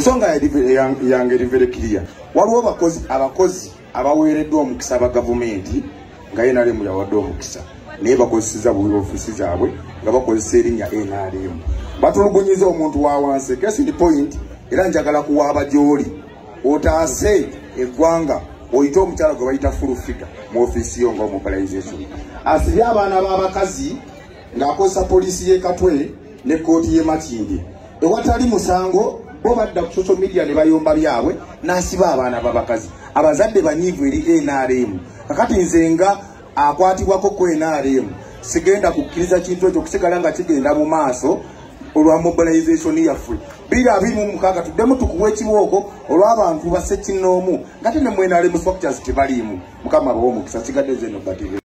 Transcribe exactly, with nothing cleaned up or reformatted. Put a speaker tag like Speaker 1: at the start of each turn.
Speaker 1: Ensonga yange eri very clear. Waliwo abakozi abakozi abaweereddwa omukisa aba gavumenti nga N R M yawadde omukisa, naye bakozeseza bubi ofiisi zaabwe nga bakozesa erinnya N R M, batulugunyiza omuntu wa wansi. Case in point, era njagala kuwaaba gy'oli otaase eggwanga, oyite omukyala gwe bayita Full Figure mu ofiisi yo nga mobilization, asibye abaana b'abakazi ng'akozesa poliisi y'e Katwe ne kkooti y'e Makindye ewatali musango. Bo badda ku social media ne bayomba byabwe, n'asiba abaana b'abakazi. Abazadde banyiivu eri N R M. Kakati nze nga akwatibwako ku N R M, sigenda kukkiriza kintu ekyo okusigala nga kigenda mu maaso. Olwa mobilization yaffe bbiri abiri mu mukaaga, tuddemu tukuwa ekibooko olw'abantu basekinnoomu nga te ne mu N R M structures tebaliimu. Mukama abawe omukisa. Sigadde zeno batv.